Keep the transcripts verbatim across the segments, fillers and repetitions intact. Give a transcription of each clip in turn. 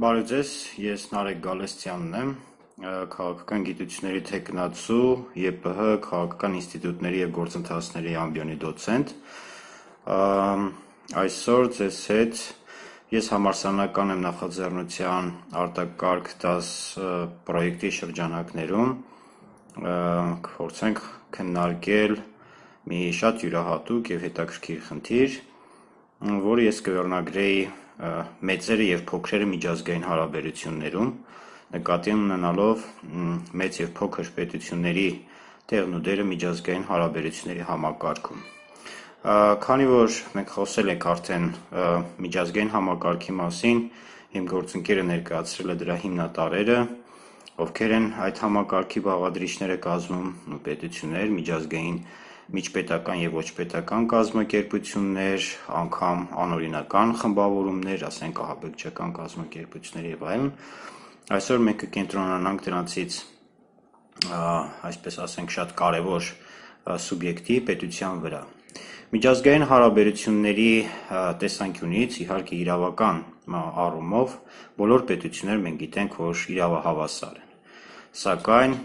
Բարև ձեզ, ես Նարեկ Գալստյանն եմ, քաղաքական գիտությունների թեկնածու, ԵՊՀ քաղաքական ինստիտուտների և գործընթացների ամբիոնի դոցենտ։ Այսօր ձեզ հետ ես համալսարանական եմ նախաձեռնության արտակարգ դաս պրոյեկտի շրջանակներում կփորձենք քննարկել մի շատ յուրահատուկ և հետաքրքիր խնդիր, որը ես կվերնագրեի մեծերը և փոքրերը միջազգային հարաբերություններում, նկատի ունենալով մեծ և փոքր պետությունների տեղն ու դերը միջազգային հարաբերությունների համակարգում։ Քանի որ մենք խոսել ենք արդեն միջազգային համակարգի մասին, իմ գործընկերը ներկայացրել է դրա հիմնատարրերը, ովքեր են այդ համակարգի բաղադրիչները կազմում պետություններ, միջազգային միջպետական և ոչ պետական կազմակերպություններ, անգամ անօրինական խմբավորումներ, ասենք ահաբեկչական կազմակերպություններ և այլն, այսօր մենք կկենտրոնանանք դրանցից, այսպես ասենք, շատ կարևոր սուբյեկտի պետության վրա։ Միջազգային հարաբերությունների տեսանկյունից, իհարկե իրավական առումով, բոլոր պետությունները մենք գիտենք, որ իրավահավասար են, սակայն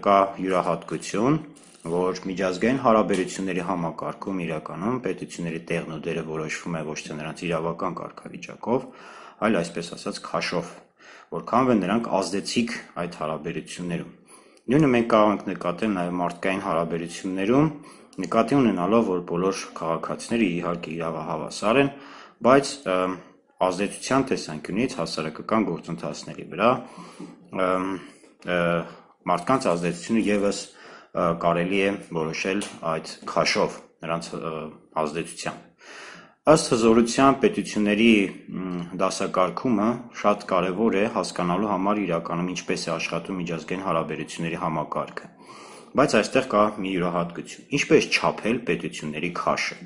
կա յուրահատկություն, որ միջազգային հարաբերությունների համակարգում իրականում պետությունների տեղն ու դերը որոշվում է ոչ թե նրանց իրավական կարգավիճակով, այլ այսպես ասած քաշով, որքանով են նրանք ազդեցիկ այդ հարաբերություններում։ Նույնը մենք կարող ենք նկատել նաև մարդկային հարաբերություններում, նկատի ունենալով, որ բոլոր քաղաքացիները իհարկե իրավահավասար են, բայց ազդեցության տեսանկյունից հասարակական գործընթացների վրա մարդկանց ազդեցությունը ևս կարելի է որոշել այդ քաշով, նրանց ազդեցությամբ։ Ըստ հզորության պետությունների դասակարգումը շատ կարևոր է հասկանալու համար իրականում ինչպես է աշխատում միջազգային հարաբերությունների համակարգը, բայց այստեղ կա մի յուրահատկություն, ինչպես չափել պետությունների քաշը,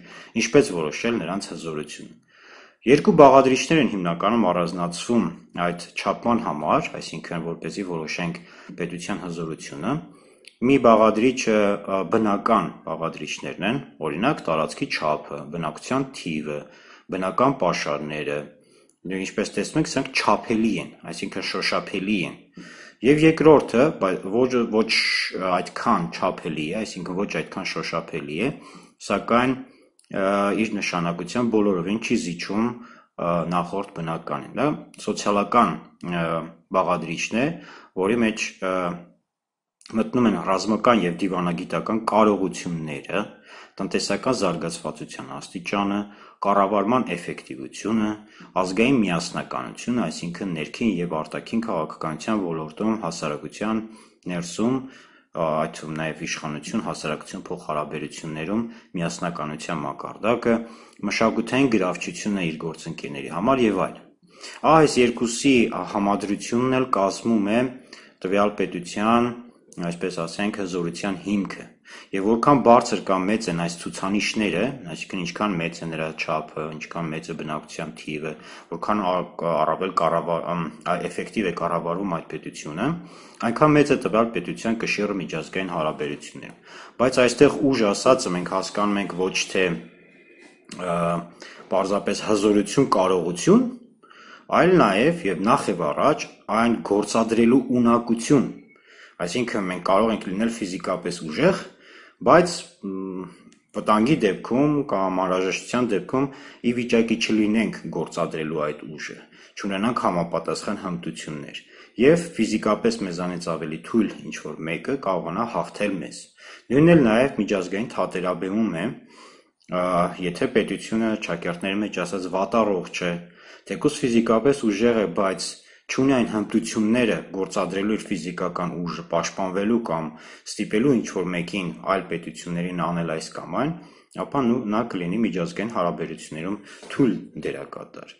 ինչպես որոշել նրանց հզորությունը։ Երկու բաղադրիչներ են հիմնականում առանձնացվում այդ չափման համար, այսինքն որպեսզի որոշենք պետության հզորությունը, մի բաղադրիչը բնական բաղադրիչներն են, օրինակ տարածքի չափը, բնակչության թիվը, բնական պաշարները, ինչպես տեսնում եք, սրանք չափելի են, այսինքն շոշափելի են, և երկրորդը ոչ այդքան չափելի է, այսինքն ոչ այդքան շոշափելի է, սակայն իր նշանակությամբ բոլորովին չի զիջում նախորդ բնականին, դա սոցիալական բաղադրիչն է, որի մեջ մտնում են ռազմական և դիվանագիտական կարողությունները, տնտեսական զարգացվածության աստիճանը, կառավարման էֆեկտիվությունը, ազգային միասնականությունը, այսինքն ներքին և արտաքին քաղաքականության ոլորտում հասարակության ներսում, այդ թվում նաև իշխանություն, հասարակություն փոխհարաբերություններում միասնականության մակարդակը, մշակութային գրավչությունը իր գործընկերների համար և այլն։ Այս երկուսի համադրությունն էլ կազմում է տվյալ պետության, այսպես ասենք, հզորության հիմքը, և որքան բարձր կամ մեծ են այս ցուցանիշները, այսինքն ինչքան մեծ է նրա չափը, ինչքան մեծ է բնակչության թիվը, որքան առավել էֆեկտիվ է կառավարվում այդ պետությունը, այնքան մեծ է տվյալ պետության կշիռը միջազգային հարաբերություններում։ Բայց այստեղ ուժ ասածը մենք հասկանում ենք ոչ թե պարզապես հզորություն, կարողություն, այլ նաև և նախ և առաջ այն գործադրելու ունակություն, այսինքն մենք կարող ենք լինել ֆիզիկապես ուժեղ, բայց վտանգի դեպքում կամ անհրաժեշտության դեպքում ի վիճակի չլինենք գործադրելու այդ ուժը, չունենանք համապատասխան հմտություններ, և ֆիզիկապես մեզանից ավելի թույլ ինչ-որ մեկը կարողանա հաղթել մեզ։ Նույնն էլ նաև միջազգային թատերաբեմում է, եթե պետությունը ճակերտների մեջ ասած վատառողջ է, թեկուզ ֆիզիկապես ուժեղ է, բայց չունի այն հմտությունները գործադրելու իր ֆիզիկական ուժը, պաշտպանվելու կամ ստիպելու ինչ-որ մեկին այլ պետություններին անել այս կամ այն, ապա նա կլինի միջազգային հարաբերություններում թույլ դերակատար։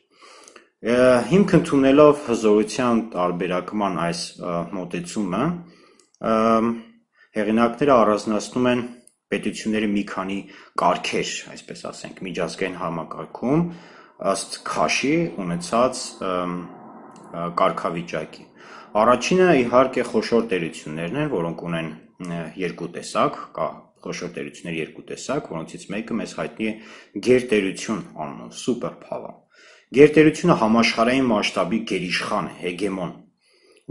Հիմք ընդունելով հզորության տարբերակման այս մոտեցումը, հեղինակները առանձնացնում են պետությունների մի քանի կարգեր, այսպես ասենք, միջազգային համակարգում ըստ քաշի ունեցած կարգավիճակի։ Առաջինը իհարկե խոշոր տերություններն են, որոնք ունեն երկու տեսակ, կա խոշոր տերությունների երկու տեսակ, որոնցից մեկը մեզ հայտնի է գերտերություն անունով, սուպեր փավեր, Գերտերությունը համաշխարհային մասշտաբի գերիշխան է, հեգեմոն,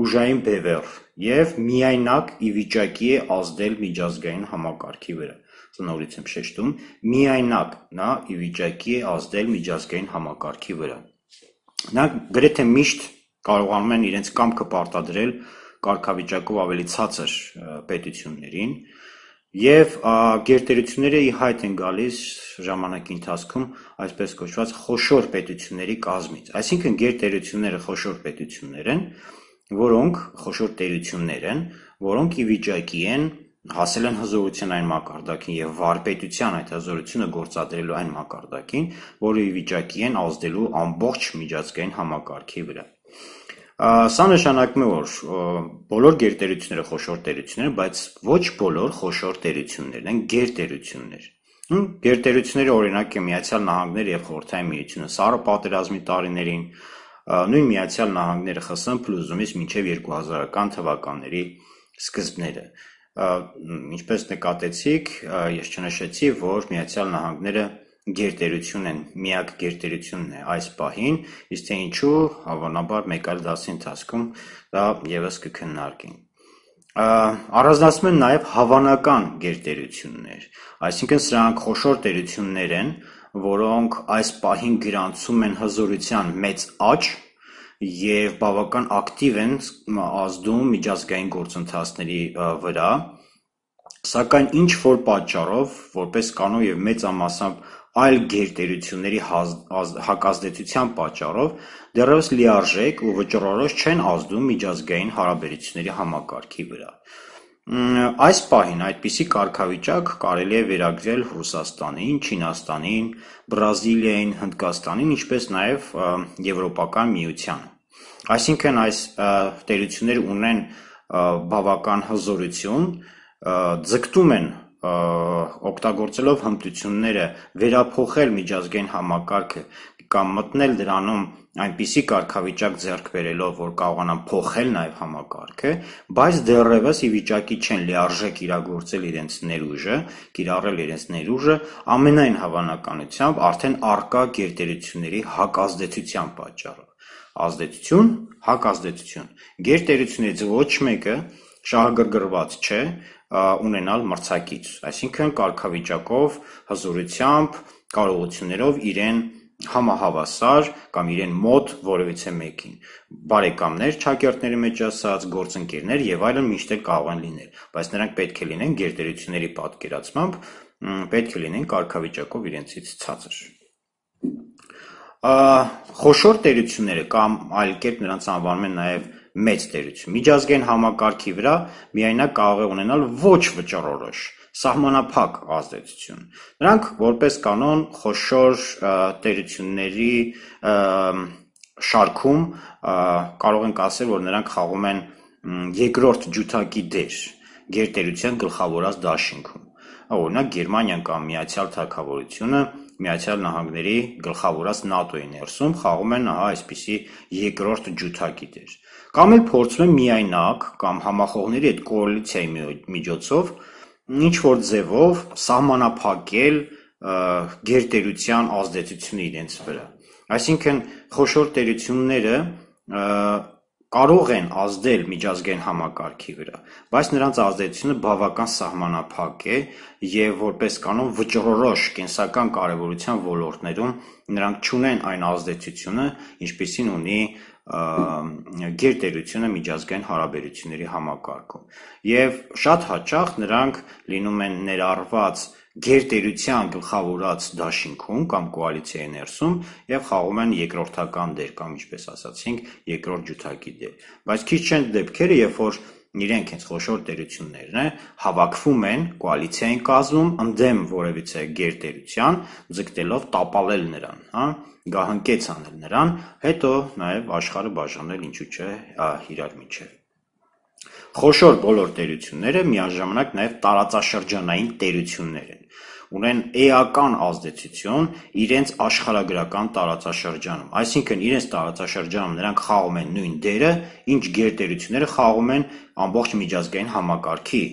ուժային բևեռ և միայնակ ի վիճակի է ազդել միջազգային համակարգի վրա։ Նորից եմ շեշտում, միայնակ նա ի վիճակի է ազդել միջազգային համակարգի վրա։ Նրանք գրեթե միշտ կարողանում են իրենց կամքը պարտադրել կարգավիճակով ավելի ցածր պետություններին, և գերտերությունները ի հայտ են գալիս ժամանակի ընթացքում այսպես կոչված խոշոր պետությունների կազմից։ Այսինքն գերտերությունները խոշոր պետություններ են, որոնք խոշոր տերություններ են, որոնք ի վիճակի են հասել են հզորության այն մակարդակին և վարպետության այդ հզորությունը գործադրելու այն մակարդակին, որը ի վիճակի են ազդելու ամբողջ միջազգային համակարգի վրա։ Սա նշանակում է, որ բոլոր գերտերությունները խոշոր տերություններ են, բայց ոչ բոլոր խոշոր տերություններն են գերտերություններ։ Գերտերությունների օրինակ է Միացյալ Նահանգները և Խորհրդային Միությունը սառը պատերազմի տարիներին, նույն Միացյալ Նահանգները Խ Ս Ը փլուզումից մինչև երկու հազարական թվականների սկզբները։ Ինչպես նկատեցիք, ես չնշեցի, որ Միացյալ Նահանգները գերտերություն են, միակ գերտերությունն է այս պահին, իսկ թե ինչու, հավանաբար մեկ այլ դասի ընթացքում դա ևս կքննարկենք։ Առանձնացնում են նաև հավանական գերտերություններ, այսինքն սրանք խոշոր տերություններ են, որոնք այս պահին գրանցում են հզորության մեծ աճ և բավական ակտիվ են ազդում միջազգային գործընթացների վրա, սակայն ինչ-որ պատճառով, որպես կանոն և մեծամասամբ այլ գերտերությունների հակազդեցության պատճառով, դեռևս լիարժեք ու վճռորոշ չեն ազդում միջազգային հարաբերությունների համակարգի վրա։ Այս պահին այդպիսի կարգավիճակ կարելի է վերագրել Ռուսաստանին, Չինաստանին, Բրազիլիային, Հնդկաստանին, ինչպես նաև Եվրոպական միությանը։ Այսինքն այս տերությունները ունեն բավական հզորություն, ձգտում են օգտագործելով հմտությունները վերափոխել միջազգային համակարգը կամ մտնել դրանում այնպիսի կարգավիճակ ձեռք բերելով, որ կարողանան փոխել նաև համակարգը, բայց դեռևս ի վիճակի չեն լիարժեք իրագործել իրենց ներուժը, կիրառել իրենց ներուժը, ամենայն հավանականությամբ արդեն առկա գերտերությունների հակազդեցության պատճառով։ Ազդեցություն, հակազդեցություն։ Գերտերություններից ոչ մեկը շահագրգռված չէ ունենալ մրցակից, այսինքն կարգավիճակով, հզորությամբ, կարողություններով իրեն համահավասար կամ իրեն մոտ որևիցե մեկին։ Բարեկամներ, չակերտների մեջ ասած, գործընկերներ և այլն միշտ էլ կարող են լինել, բայց նրանք պետք է լինեն գերտերությունների պատկերացմամբ, պետք է լինեն կարգավիճակով իրենցից ցածր։ Խոշոր տերությունները կամ այլ կերպ նրանց անվանում են նաև մեծ տերություն, միջազգային համակարգի վրա միայնակ կարող է ունենալ ոչ վճռորոշ, սահմանափակ ազդեցություն։ Նրանք որպես կանոն խոշոր տերությունների շարքում կարող ենք ասել, որ նրանք խաղում են երկրորդ ջութակի դեր գերտերության գլխավորած դաշինքում։ Օրինակ Գերմանիան կամ Միացյալ Թագավորությունը Միացյալ Նահանգների գլխավորած ՆԱՏՕ-ի ներսում խաղում են այսպիսի երկրորդ ջութակի դեր։ Կամ էլ փորձում են միայնակ կամ համախոհների այդ կոալիցիայի միջոցով ինչ-որ ձևով սահմանափակել գերտերության ազդեցությունը իրենց վրա։ Այսինքն խոշոր տերությունները կարող են ազդել միջազգային համակարգի վրա, բայց նրանց ազդեցությունը բավական սահմանափակ է և որպես կանոն վճռորոշ կենսական կարևորության ոլորտներում նրանք չունեն այն ազդեցությունը, ինչպիսին ունի գերտերությունը միջազգային հարաբերությունների համակարգում։ Եվ շատ հաճախ նրանք լինում են ներառված գերտերության գլխավորած դաշինքում կամ կոալիցիայի ներսում և խաղում են երկրորդական դեր կամ ինչպես ասացինք, երկրորդ ջութակի դեր։ Բայց քիչ չեն դեպքերը, երբ որ իրենք հենց խոշոր տերություններն հավաքվում են, կոալիցիա են կազմում ընդդեմ որևիցե գերտերության, ձգտելով տապալել նրան, գահընկեց անել նրան, հետո նաև աշխարհը բաժանել ինչու՞ չէ իրար միջև։ Խոշոր բոլոր տերությունները միաժամանակ նաև տարածաշրջանային տերություններ են, ունեն էական ազդեցություն իրենց աշխարհագրական տարածաշրջանում, այսինքն իրենց տարածաշրջանում նրանք խաղում են նույն դերը, ինչ գերտերությունները խաղում են ամբողջ միջազգային համակարգի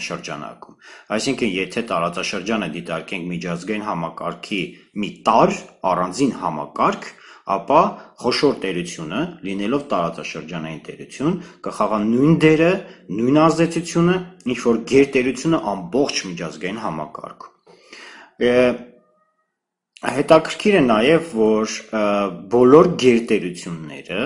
շրջանակում։ Այսինքն եթե տարածաշրջանը դիտարկենք միջազգային համակարգի մի տարր, առանձին համակարգ, ապա խոշոր տերությունը, լինելով տարածաշրջանային տերություն, կխաղա նույն դերը, նույն ազդեցությունը, ինչ որ գերտերությունը ամբողջ միջազգային համակարգում։ Հետաքրքիր է նաև, որ բոլոր գերտերությունները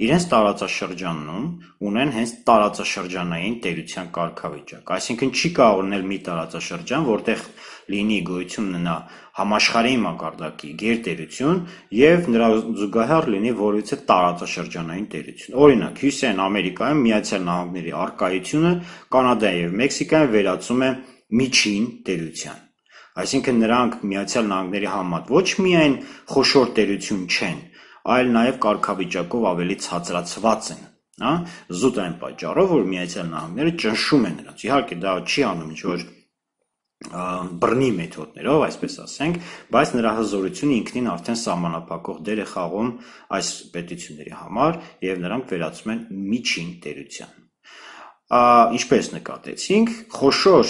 իրենց տարածաշրջանում ունեն հենց տարածաշրջանային տերության կարգավիճակ, այսինքն չի կարող լինել մի տարածաշրջան, որտեղ լինի գոյություն ունենա համաշխարհային մակարդակի գերտերություն եւ նրա զուգահեռ լինի որևիցե տարածաշրջանային տերություն։ Օրինակ, Հյուսիսային Ամերիկայում Միացյալ Նահանգների առկայությունը Կանադայի եւ Մեքսիկայում վերածում է միջին տերության։ Այսինքն նրանք Միացյալ Նահանգների համեմատ ոչ միայն խոշոր տերություն չեն, այլ նաև կարգավիճակով ավելի ցածրացված են, հա, զուտ այն պատճառով, որ Միացյալ Նահանգները ճնշում են նրանց։ Իհարկե դա չի անում ինչ-որ բռնի մեթոդներով, այսպես ասենք, բայց նրա հզորությունը ինքնին արդեն սահմանափակող դեր է խաղում այս պետությունների համար եւ նրանք վերածում են միջին տերության։ Ինչպես նկատեցինք, խոշոր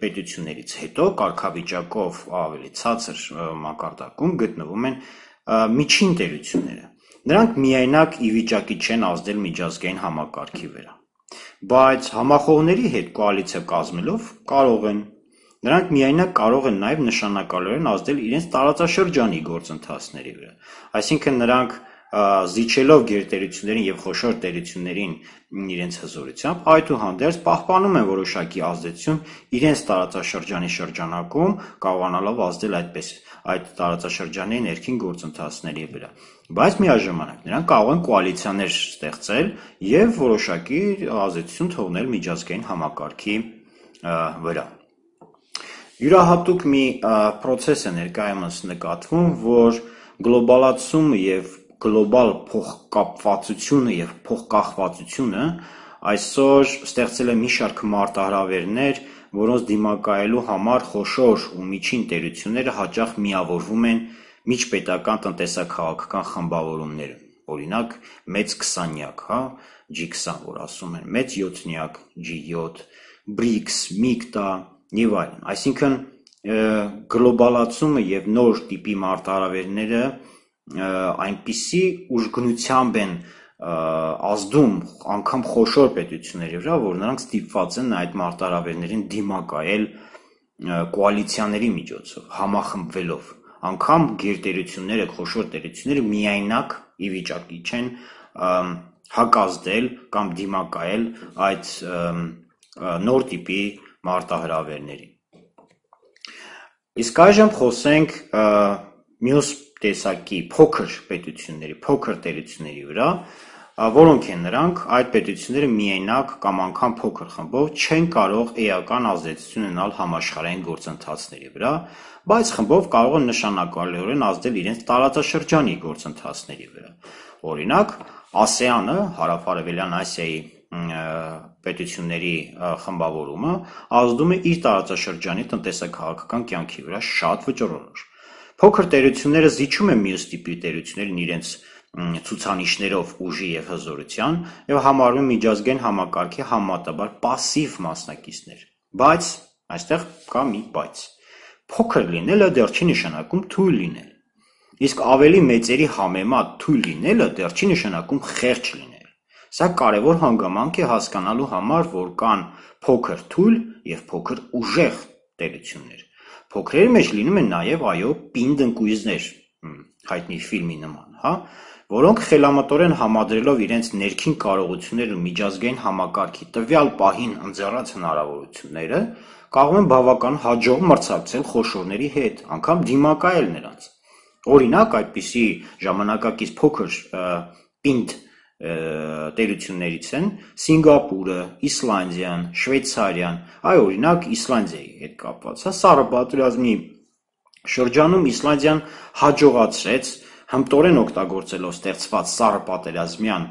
պետություններից հետո կարգավիճակով ավելի ցածր մակարդակում գտնվում են միջին տերությունները։ Նրանք միայնակ ի վիճակի չեն ազդել միջազգային համակարգի վրա, բայց համախոհների հետ կոալիցիա կազմելով կարող են։ Նրանք միայնակ կարող են նաև նշանակալիորեն ազդել իրենց տարածաշրջանի գործընթացների վրա։ Այսինքն նրանք զիջելով գերտերություններին եւ խոշոր տերություններին իրենց հզորությամբ, այդուհանդերձ պահպանում են որոշակի ազդեցություն իրենց տարածաշրջանի շրջանակում, կարողանալով ազդել այդպես այդ տարածաշրջանի ներքին գործընթացների վրա։ Բայց միաժամանակ նրանք կարող են կոալիցիաներ ստեղծել եւ որոշակի ազդեցություն թողնել միջազգային համակարգի վրա։ Յուրահատուկ մի process է ներկայումս նկատվում, որ գլոբալացումը եւ գլոբալ փոխկապվածությունը եւ փոխկախվածությունը այսօր ստեղծել է մի շարք մարտահրավերներ, որոնց դիմակայելու համար խոշոր ու միջին տերությունները հաճախ միավորվում են միջպետական տնտեսաքաղաքական խմբավորումներում, օրինակ մեծ քսանյակ, հա, G twenty, որ ասում են, մեծ յոթնյակ, G seven, բրիկս, միկտա եւ այլն։ Այսինքն գլոբալացումը եւ նոր տիպի մարտահրավերները այնպիսի ուժգնությամբ են ազդում անգամ խոշոր պետությունների վրա, որ նրանք ստիպված են այդ մարտահրավերներին դիմակայել կոալիցիաների միջոցով, համախմբվելով։ Անգամ գերտերությունները, խոշոր տերությունները միայնակ ի վիճակի չեն հակազդել կամ դիմակայել այդ նոր տիպի մարտահրավերներին։ Իսկ այժմ խոսենք մյուս տեսակի փոքր պետությունների, փոքր տերությունների վրա, որոնք են նրանք, այդ պետությունները միայնակ կամ անգամ փոքր խմբով չեն կարող էական ազդեցություն ունենալ համաշխարհային գործընթացների վրա, բայց խմբով կարող են նշանակալիորեն ազդել իրենց տարածաշրջանի գործընթացների վրա։ Օրինակ, ASEAN-ը, Հարավ-Արևելյան Ասիայի պետությունների խմբավորումը ազդում է իր տարածաշրջանի տնտեսաքաղաքական կյանքի վրա շատ վճռորոշ։ Փոքր տերությունները զիջում են մյուս տիպի տերություններին իրենց ցուցանիշներով ուժի եւ հզորության եւ համարվում են միջազգային համակարգի համեմատաբար պասիվ մասնակիցներ։ Բայց այստեղ կա մի բայց։ Փոքր լինելը դեռ չի նշանակում թույլ լինել։ Իսկ ավելի մեծերի համեմատ թույլ լինելը դեռ չի նշանակում խեղճ լինել։ Սա կարևոր հանգամանք է հասկանալու համար, որ կան փոքր թույլ եւ փոքր ուժեղ տերություններ։ Փոքրերի մեջ լինում են նաեւ այո պինդ ընկույզներ, հայտնի ֆիլմի նման, հա, որոնք խելամտորեն համադրելով իրենց ներքին կարողությունները ու միջազգային համակարգի տվյալ պահին ընձեռած հնարավորությունները, կարող են բավական հաջող մրցակցել խոշորների հետ, անգամ դիմակայել նրանց։ Օրինակ, այդպիսի ժամանակակից փոքր պինդ տերություններից են Սինգապուրը, Իսլանդիան, Շվեյցարիան, այ օրինակ Իսլանդիայի հետ կապված, հա, Սառը պատերազմի շրջանում Իսլանդիան հաջողացրեց հմտորեն օգտագործելով ստեղծված սառը պատերազմյան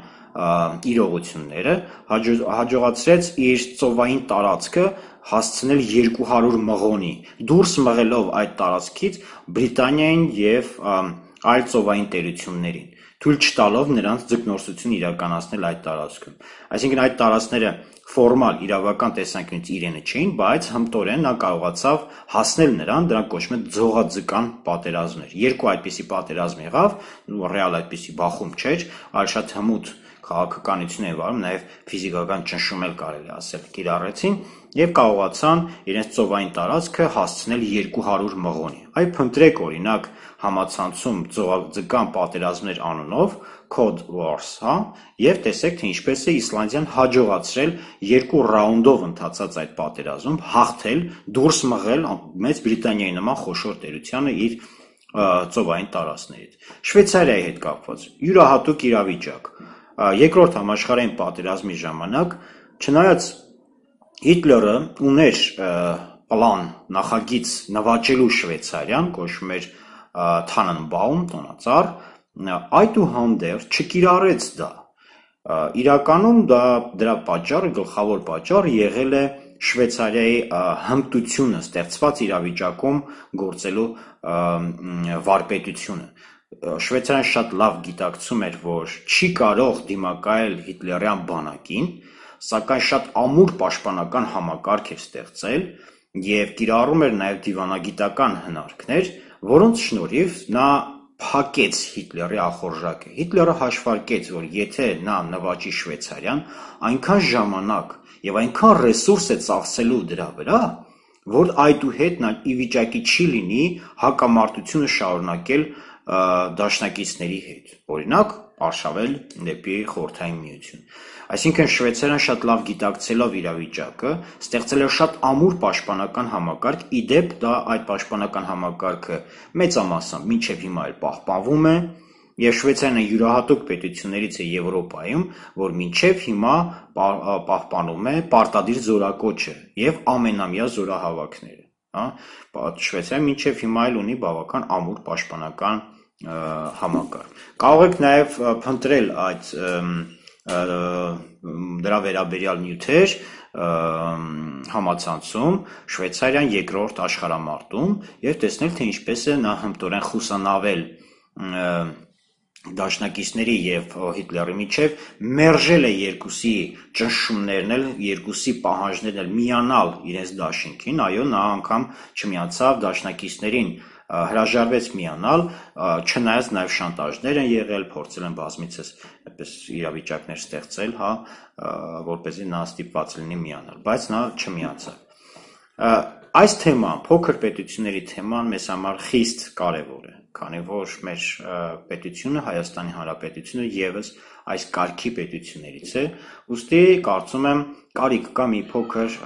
իրողությունները, հաջողացրեց իր ծովային տարածքը հասցնել երկու հարյուր մղոնի, դուրս մղելով այդ տարածքից Բրիտանիային եւ այլ ծովային տերություններին։ թույլ չտալով նրանց ձկնորսություն իրականացնել այդ տարածքում։ Այսինքն այդ տարածքները ֆորմալ իրավական տեսանկյունից իրենը չէին, բայց հմտորեն նա կարողացավ հասնել նրան, դրանք կոչվում են ձողաձկան պատերազմներ։ Երկու այդպիսի պատերազմ եղավ, ռեալ այդպիսի բախում չէր, այլ շատ հմուտ քաղաքականություն է վարում, նաև ֆիզիկական ճնշում էլ կարելի ասել կիրառեցին եւ կարողացան իրենց ծովային տարածքը հասցնել երկու հարյուր մղոնի։ Այ փնտրեք օրինակ համացանցում ձողաձկան պատերազմներ անունով Code Wars, հա, եւ տեսեք թե ինչպես է Իսլանդիան հաջողացրել երկու ռաունդով ընթացած այդ պատերազմում հաղթել, դուրս մղել Մեծ Բրիտանիայի նման խոշոր տերությանը իր ծովային տարածքներից։ Շվեյցարիայի հետ կապված յուրահատուկ իրավիճակ։ Երկրորդ համաշխարհային պատերազմի ժամանակ, չնայած Հիտլերը ուներ պլան, նախագիծ նվաճելու Շվեյցարիան, կոչվում էր Թանենբաում, տոնածառ, այդուհանդերձ չկիրառեց դա։ Իրականում դա դրա պատճառը, գլխավոր պատճառը եղել է Շվեյցարիայի հմտությունը ստեղծված իրավիճակում գործելու վարպետությունը։ Շվեյցարիան շատ լավ գիտակցում էր, որ չի կարող դիմակայել հիտլերյան բանակին, սակայն շատ ամուր պաշտպանական համակարգ էր ստեղծել եւ կիրառում էր նաեւ դիվանագիտական հնարքներ, որոնց շնորհիվ նա փակեց Հիտլերի ախորժակը։ Հիտլերը հաշվարկեց, որ եթե նա նվաճի Շվեյցարիան, այնքան ժամանակ եւ այնքան ռեսուրս է ծախսելու դրա վրա, որ այդուհետ նա ի վիճակի չի լինի հակամարտությունը շարունակել դաշնակիցների հետ, օրինակ արշավել դեպի Խորհրդային Միություն։ Այսինքն Շվեյցարիան շատ լավ գիտակցելով իրավիճակը, ստեղծել է շատ ամուր պաշտպանական համակարգ, ի դեպ դա այդ պաշտպանական համակարգը մեծամասամբ մինչև հիմա էլ պահպանվում է, եւ Շվեյցարիան յուրահատուկ պետություններից է Եվրոպայում, որ մինչև հիմա պահպանում է պարտադիր զորակոչը եւ ամենամյա զորահավաքները, հա։ Շվեյցարիան մինչև հիմա էլ ունի բավական ամուր պաշտպանական համակարգ։ Կարող եք նաև փնտրել այդ դրա վերաբերյալ նյութեր համացանցում Շվեյցարիան երկրորդ աշխարհամարտում եւ տեսնել թե ինչպես է նա հմտորեն խուսանավել դաշնակիցների եւ Հիտլերի միջև, մերժել է երկուսի ճնշումներն էլ, երկուսի պահանջներն էլ միանալ իրենց դաշինքին, այո, նա անգամ չմիացավ դաշնակիցներին, հրաժարվեց միանալ, չնայած նաև շանտաժներ են եղել, փորձել են բազմիցս այդպես իրավիճակներ ստեղծել, հա, որպեսզի նա ստիպված լինի միանալ, բայց նա չմիացավ։ Այս թեման, փոքր պետությունների թեման մեզ համար խիստ կարևոր է, քանի որ մեր պետությունը, Հայաստանի Հանրապետությունը ևս այս կարգի պետություններից է, ուստի կարծում եմ կարիք կա մի փոքր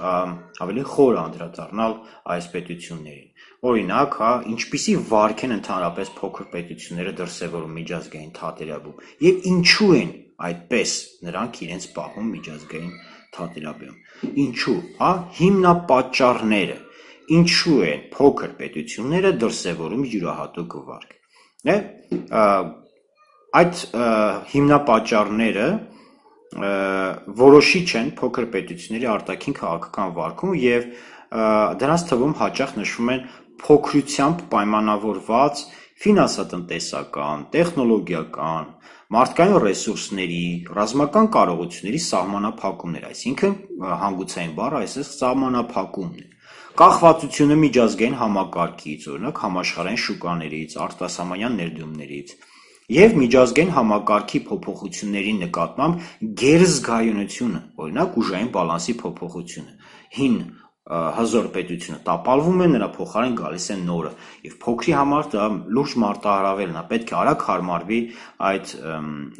ավելի խոր անդրադառնալ այս պետություններին։ Օրինակ, հա, ինչպիսի վարք են ընդհանրապես փոքր պետությունները դրսևորում միջազգային թատերաբում եւ ինչու են այդպես նրանք իրենց պահում միջազգային թատերաբում։ Ինչու, հա, հիմնապատճառները, ինչու են փոքր պետությունները դրսևորում յուրահատուկ վարք։ Է, այդ հիմնապատճառները որոշիչ են փոքր պետությունների արտաքին քաղաքական վարքում եւ դրանց թվում հաճախ նշվում են փոքրությամբ պայմանավորված ֆինանսատնտեսական, տեխնոլոգիական, մարդկային ռեսուրսների, ռազմական կարողությունների սահմանափակումներ, այսինքն հանգուցային բառը այսպես սահմանափակումն է։ Կախվածությունը միջազգային համակարգից, օրինակ համաշխարհային շուկաներից, արտասահմանյան ներդրումներից եւ միջազգային համակարգի փոփոխությունների նկատմամբ գերզգայունությունը, օրինակ ուժային բալանսի փոփոխությունը, հին հզոր պետությունը տապալվում է, նրա փոխարեն գալիս է նորը եւ փոքրի համար դա լուրջ մարտահրավերն է, պետք է արագ հարմարվի այդ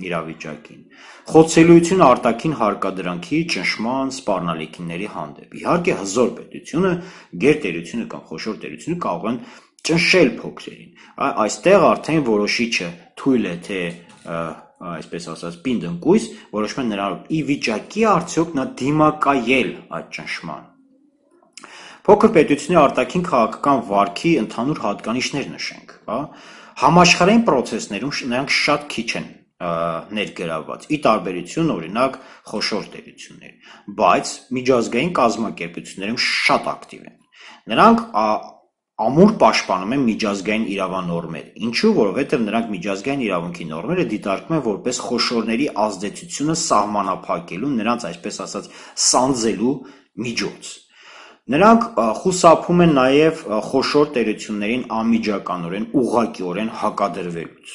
իրավիճակին։ Խոցելիություն արտաքին հարկադրանքի ճնշման սպառնալիքների հանդեպ։ Իհարկե հզոր պետությունը, գերտերությունը կամ խոշոր տերությունը կարող են ճնշել փոքրերին։ Այստեղ արդեն որոշիչը թույլ է թե այսպես ասած պինդ ընկույզ, որոշում են նրան ի վիճակի արդյոք նա դիմակայել այդ ճնշման։ Փոքր պետությունների արտաքին քաղաքական վարքի ընդհանուր հատկանիշներ նշենք, հա։ Համաշխարհային process-ներում նրանք շատ քիչ են ներգրավված, ի տարբերություն օրինակ խոշոր տերությունների, բայց միջազգային կազմակերպություններում շատ ակտիվ են։ Նրանք ամուր պաշտպանում են միջազգային իրավանորմեր։ Ինչու՞, որովհետև նրանք միջազգային իրավունքի նորմերը դիտարկում են որպես խոշորների ազդեցությունը սահմանափակելու, նրանց այսպես ասած սանձելու միջոց։ Նրանք խուսափում են նաև խոշոր տերություններին անմիջականորեն, ուղղակիորեն հակադրվելուց։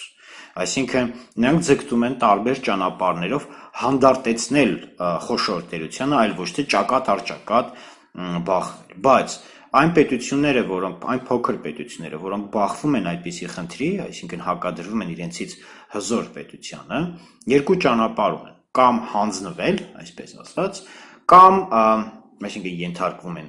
Այսինքն նրանք ձգտում են տարբեր ճանապարհներով հանդարտեցնել խոշոր տերությանը, այլ ոչ թե ճակատ առ ճակատ բախվել։ Բայց այն պետությունները, որոնք այն փոքր պետությունները, որոնք բախվում են այդպիսի խնդրի, այսինքն հակադրվում են իրենցից հզոր պետությանը, երկու ճանապարհ ունեն՝ կամ հանձնվել, այսպես ասած, կամ այսինքն ենթարկվում են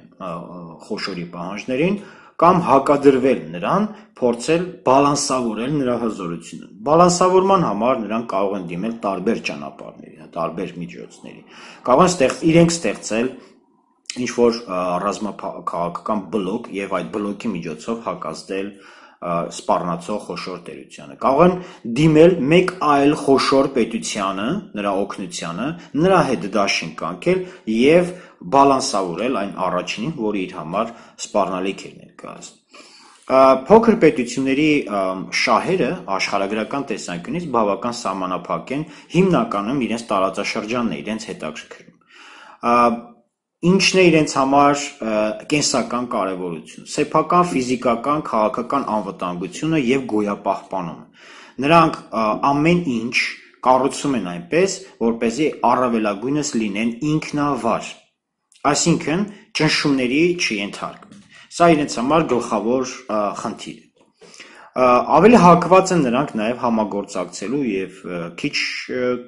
խոշորի պահանջներին, կամ հակադրվել նրան, փորձել բալանսավորել նրա հզորությունը։ Բալանսավորման համար նրանք կարող են դիմել տարբեր ճանապարհների, տարբեր միջոցների։ Կարող են ստեղ իրենք ստեղծել ինչ-որ ռազմաքաղաքական բլոկ եւ այդ բլոկի միջոցով հակազդել սպառնացող խոշոր տերությանը։ Կարող են դիմել մեկ այլ խոշոր պետությանը, նրա օգնությանը, նրա հետ դաշին կանգնել եւ բալանսավորել այն առաջինին, որը իր համար սպառնալիք է ներկայացնում։ Փոքր պետությունների շահերը աշխարհագրական տեսանկյունից բավական սահմանափակ են, հիմնականում իրենց տարածաշրջանն է իրենց հետաքրքրում։ Ինչն է իրենց համար կենսական կարևորություն, սեփական, ֆիզիկական, քաղաքական անվտանգությունը եւ գոյապահպանումը։ Նրանք ամեն ինչ կառուցում են այնպես, որպեսզի առավելագույնս լինեն ինքնավար, այսինքն ճնշումների չենթարկվեն։ Սա իրենց համար գլխավոր խնդիր է։ Ավելի հակված են նրանք նաև համագործակցելու եւ քիչ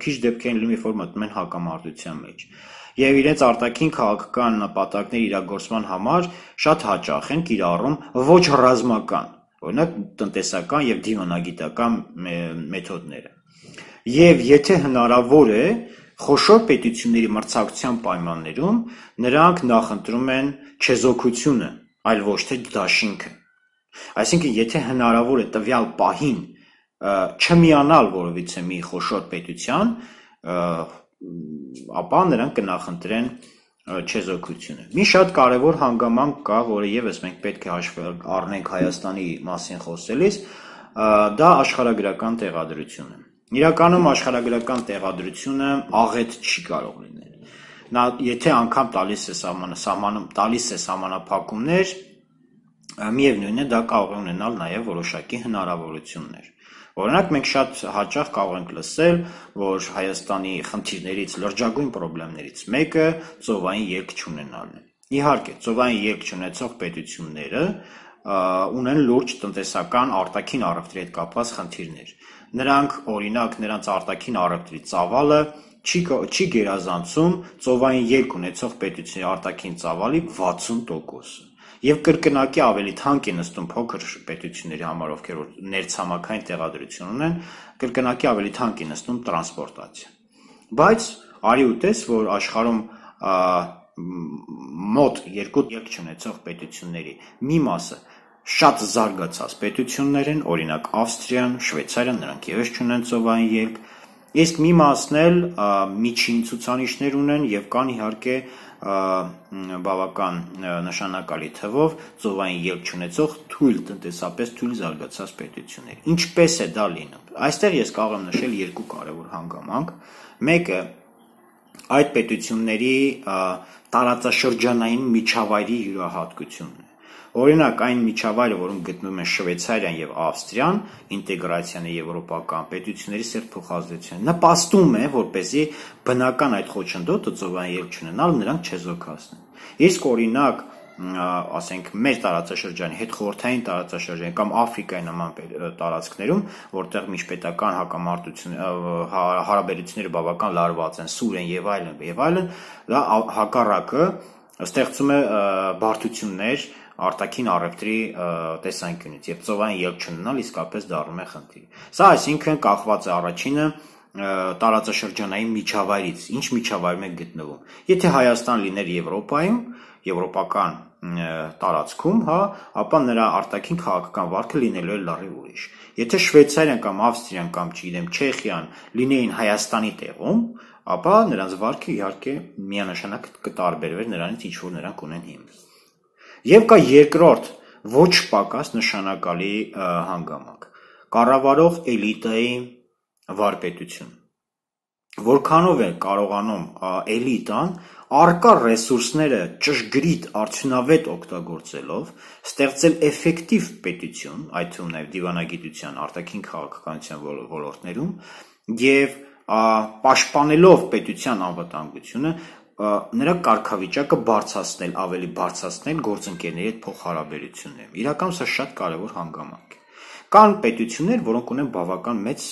քիչ դեպքերին լինում, երբ որ մտնում են հակամարտության մեջ։ Եվ իրենց արտաքին քաղաքական նպատակների իրագործման համար շատ հաճախ են կիրառում ոչ ռազմական, օրինակ տնտեսական եւ դիվանագիտական մեթոդները։ Եվ եթե հնարավոր է, խոշոր պետությունների մրցակցության պայմաններում նրանք նախընտրում են չեզոքությունը, այլ ոչ թե դաշինքը։ Այսինքն, եթե հնարավոր է տվյալ պահին չմիանալ որևիցե մի խոշոր պետության, ապա նրանք կնախընտրեն չեզոքությունը։ Մի շատ կարևոր հանգամանք կա, որը եւս մենք պետք է հաշվի առնենք Հայաստանի մասին խոսելիս, դա աշխարհագրական տեղադրությունը։ Իրականում աշխարհագրական տեղադրությունը աղետ չի կարող լինել։ Նա եթե անգամ տալիս է սահմանում տալիս է սահմանափակումներ, միևնույն է դա կարող է ունենալ նաև որոշակի հնարավորություններ։ Օրինակ մենք շատ հաճախ կարող ենք լսել, որ Հայաստանի խնդիրներից, լրջագույն խնդիրներից մեկը ծովային ելք չունենալն է։ Իհարկե, ծովային ելք չունեցող պետությունները ունեն լուրջ տնտեսական արտաքին առևտրի հետ կապված խնդիրներ։ Նրանք, օրինակ, նրանց արտաքին առևտրի ծավալը չի չի գերազանցում ծովային ելք ունեցող պետությունների արտաքին ծավալի վաթսուն տոկոսը։ Եվ կրկնակի ավելի թանկ է նստում փոքր պետությունների համար, ովքեր որ ներցամաքային տեղադրություն ունեն, կրկնակի ավելի թանկ է նստում տրանսպորտացիա։ Բայց արի ու տես, որ աշխարհում մոտ երկու ելք չունեցող պետությունների մի մասը շատ զարգացած պետություններ են, օրինակ Ավստրիան, Շվեյցարիան, նրանք ևս չունեն ծովային ելք, իսկ մի մասն էլ միջին ցուցանիշներ ունեն եւ կան իհարկե բավական նշանակալի թվով ծովային ելք չունեցող թույլ տնտեսապես թույլ զարգացած պետություններ։ Ինչպես է դա լինում։ Այստեղ ես կարող եմ նշել երկու կարևոր հանգամանք։ Մեկը այդ պետությունների տարածաշրջանային միջավայրի յուրահատկությունն է։ Օրինակ այն միջավայրը, որում գտնվում են Շվեյցարիան եւ Ավստրիան, ինտեգրացիան է եվրոպական պետությունների սերտ փոխազդեցության, նպաստում է, որպեսզի բնական այդ խոչընդոտը ծովային ելք չունենալ նրանք չեզոքացնեն։ Իսկ օրինակ, ասենք մեր տարածաշրջանի հետ խորհրդային տարածաշրջանի կամ Աֆրիկայի նման տարածքներում, որտեղ միջպետական հակամարտություն հարաբերությունները բավական լարված են, սուր են եւ այլն եւ այլն, դա հակառակը ստեղծում է բարդություններ արտաքին առևտրի տեսանկյունից եւ ծովային ելք չունենալ իսկապես դառնում է խնդիր։ Սա այսինքն կախված է առաջինը տարածաշրջանային միջավայրից, ինչ միջավայրում է գտնվում։ Եթե Հայաստան լիներ Եվրոպայում, եվրոպական տարածքում, հա, ապա նրա արտաքին քաղաքական վարքը լինելու է լրիվ ուրիշ։ Եթե Շվեյցարիան կամ Ավստրիան կամ չգիտեմ Չեխիան լինեին Հայաստանի տեղում, ապա նրանց վարքը իհարկե միանշանակ կտարբերվեր նրանից, ինչ որ նրանք ունեն հիմա։ Եվ կա երկրորդ ոչ պակաս նշանակալի հանգամանք։ Կառավարող էլիտայի վարպետություն։ Որքանով է կարողանում էլիտան առկա ռեսուրսները ճշգրիտ արդյունավետ օգտագործելով ստեղծել էֆեկտիվ պետություն, այդ թվում նաև դիվանագիտության, արտաքին քաղաքականության ոլորտներում եւ պաշտպանելով պետության անվտանգությունը նրա կարգավիճակը բարձրացնել, ավելի բարձրացնել գործընկերների հետ փոխհարաբերություններում։ Իրականում սա շատ կարևոր հանգամանք է։ Կան պետություններ, որոնք ունեն բավական մեծ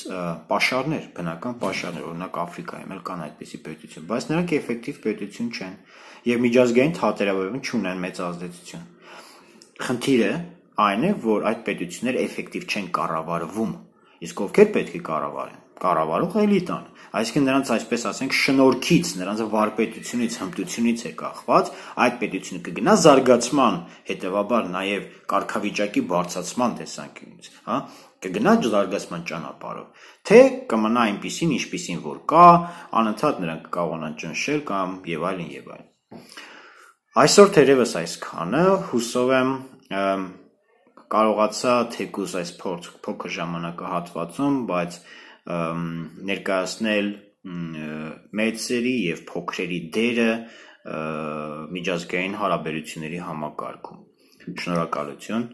պաշարներ, բնական պաշարներ, օրինակ Աֆրիկայում էլ կան այդպիսի պետություն, բայց նրանք էֆեկտիվ պետություն չեն եւ միջազգային թատերաբերում չունեն մեծ ազդեցություն։ Խնդիրը այն է, որ այդ պետությունները էֆեկտիվ չեն կառավարվում, իսկ ովքեր պետք է կառավարեն։ Կառավարող էլիտան, այսինքն նրանց այսպես ասենք շնորհքից, նրանց վարպետությունից, հմտությունից է կախված, այդ պետությունը կգնա զարգացման, հետևաբար նաև կարգավիճակի բարձրացման տեսանկյունից, հա, կգնա զարգացման ճանապարհով, թե կմնա այնպիսին, ինչպիսին որ կա, անընդհատ նրանք կկարողանան ճնշել կամ եւ այլն եւ այլն։ Այսօր թերևս այսքանը, հուսով եմ կարողացա թեկուզ այս փոքր ժամանակահատվածում, բայց ներկայացնել մեծերի եւ փոքրերի դերը միջազգային հարաբերությունների համակարգում։ Շնորհակալություն։